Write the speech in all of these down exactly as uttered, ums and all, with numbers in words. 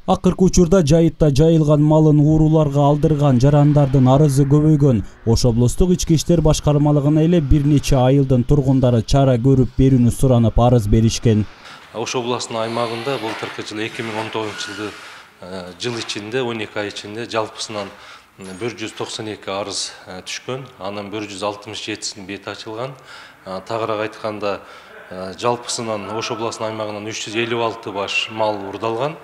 Акыркы учурда жайытта жайылган малын ууруларга алдырган жарандардын арызы көбөйгөн. Ош облустук ички иштер башкармалыгына эле бир нече айылдын тургундары чара көрүп берүүнү суранып арыз беришкен. Ош областынын аймагында былтыркы жылы эки миң он тогузунчу жылды жыл ичинде он эки ай ичинде жалпысынан бир жүз токсон эки арыз түшкөн. Анын бир жүз алтымыш жетисинин бети ачылган. Тагыраак айтканда жалпысынан Ош областынын аймагынан үч жүз элүү алты баш мал уурдалган.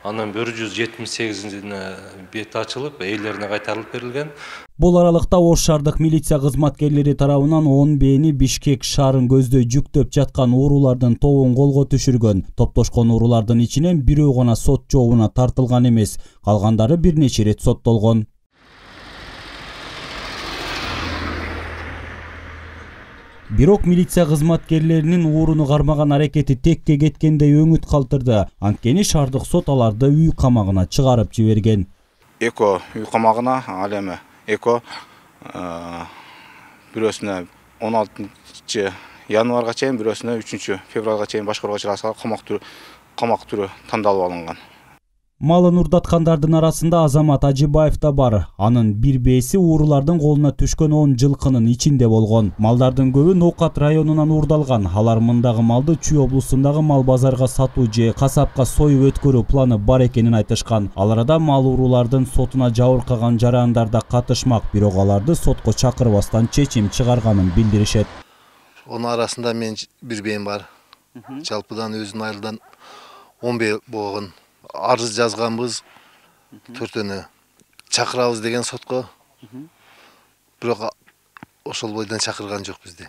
Анын бир жүз жетимиш сегизине бети ачылып, ээлерине кайтарылып берилген. Бул аралыкта Ош шаардык милиция кызматкерлери тарабынан он бээни Бишкек шаарын көздөй жүктөп жаткан уурулардын тобун колго түшүргөн. Топтошкон уурулардын ичинен бирөө гана сот жообуна тартылган эмес, калгандары бир нече ирет соттолгон. Бирок милиция кызматкерлеринин ууруну кармаган аракети текке кеткендей өңүт калтырды. Анткени шаардык сот аларды үй камагына чыгарып жиберген. Эко үй камагына, ал эми Эко бирөөсүнө он алтынчы январга чейин, бирөөсүнө үчүнчү февралга чейин башкарууга чыгарса камак түрү камак түрү тандалып алынган. Малын урдаткандардын арасында Азамат Ажибаев да бар. Анын бир бээси уурулардын колуна түшкөн он жылкынын ичинде болгон. Малдардын көбү Ноокат районунан уурдалган. Алар мындагы малды Чүй облусундагы мал базарга сатуу же касапка союп өткөрүү планы бар экенин айтышкан. Ал арада мал уурулардын сотуна жабыркаган жарандар да катышмак, бирок аларды сотко чакырбастан чечим чыгарганын билдиришет. Онун арасында мен бир бээм бар. Жалпыдан өзүнүн айылдан он бээ болгон. Арыз жазганбыз, төртөнү чакырабыз деген сотко. Бирок ошол бойдон чакырган жок бизди.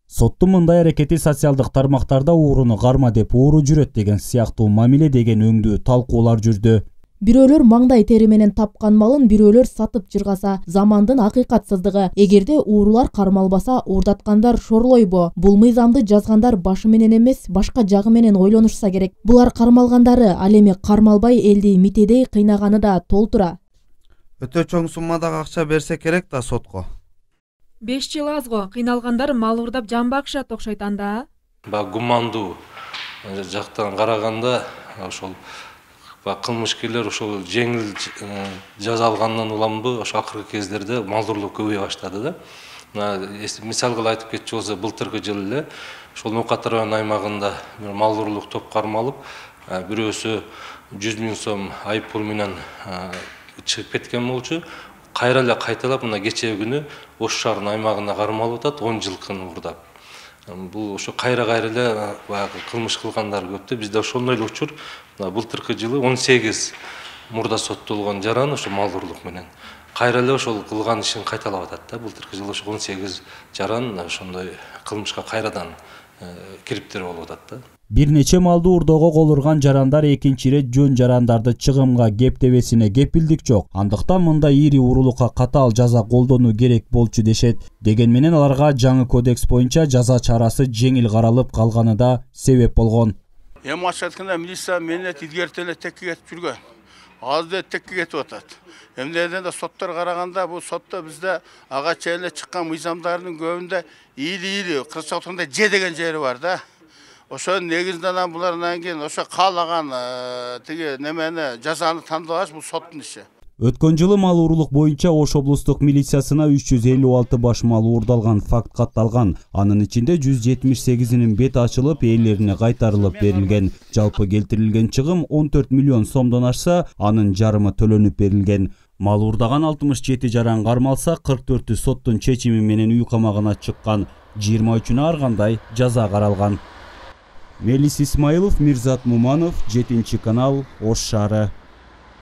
Соттун мындай аракети социалдык тармактарда ууруну карма деп ууру жүрөт деген сыяктуу мамиле деген өңдүү талкуулар жүрдү. Бирөөлөр маңдай тери менен тапкан малын бирөөлөр сатып жыргаса, замандын акыйкатсыздыгы. Эгерде уурулар кармалбаса, уурдаткандар шорлойбу? Бул мыйзамды жазгандар башы менен эмес, башка жагы менен ойлонушса керек. Булар кармалгандары, ал эми кармалбай элди митедей кыйнаганы да толтура. Өтө чоң суммадагы акча берсе керек да сотко. беш жыл азго, кыйналгандар мал уурдап жан бакышат окшойт анда. Ба гумандуу жактан караганда ошол кылмышкерлер ошол жеңил жаза алгандан уламбы, ошо акыркы кездерде малдуулук көбөйө баштады да. Мисал кылып айтып кетчү болсо, былтыркы жылы эле ошол Ноокат районунун аймагында бир малдуулук топ кармалып, бирөөсү жүз миң сом айып пул менен чыгып кеткен болчу. Кайра эле кайталап мына кечээ күнү Ош шаарынын аймагына кармалып атат, он жылкын уурдап. Бул ошо кайра-кайра эле баягы кылмыш кылгандар көптө. Бизде ошондой эле учур былтыркы жылы он сегиз мурда соттолгон жаран ошо мал уурулук менен кайра эле ошол кылган ишин кайталап атат да. Былтыркы жылы ошо он сегиз жаран ошондой кылмышка кайрадан кириптер болуп атат да. Бир нече малды уурдоого кол урган жарандар экинчи ирет жөн жарандарды чыгымга кептебесине кепилдик жок. Андыктан мындай ири уурулукка катаал жаза колдонуу керек болчу дешет. Деген менен аларга жаңы кодекс боюнча жаза чарасы жеңил каралып калганы да себеп болгон. Эми ачык айтканда милиция менет илгерте эле текке кетип жүргөн. Азыр да текке кетип атат. Эмнеден да соттор караганда бул сотто бизде ага чейин эле чыккан мыйзамдардын көбүндө ийли-ийли кыргызча айтканда же деген жери бар да. Ошо негизинен булардан кийин ошо каалаган тиги немени жазаны тандабаш бул соттун иши. Өткөн жылы мал уурулук боюнча Ош облустук милициясына үч жүз элүү алты баш мал уурдалган факт катталган. Анын ичинде жүз жетимиш сегизинин бети ачылып, ээлерине кайтарылып берилген. Жалпы келтирилген чыгым он төрт миллион сомдон ашса, анын жарымы төлөнүп берилген. Мал уурдаган алтымыш жети жаран кармалса, кырк төртү соттун чечими менен үй камагына чыккан. жыйырма үчүнө ар кандай жаза каралган. Мелис Исмаилов, Мирзат Муманов, жетинчи канал, Ош шаары.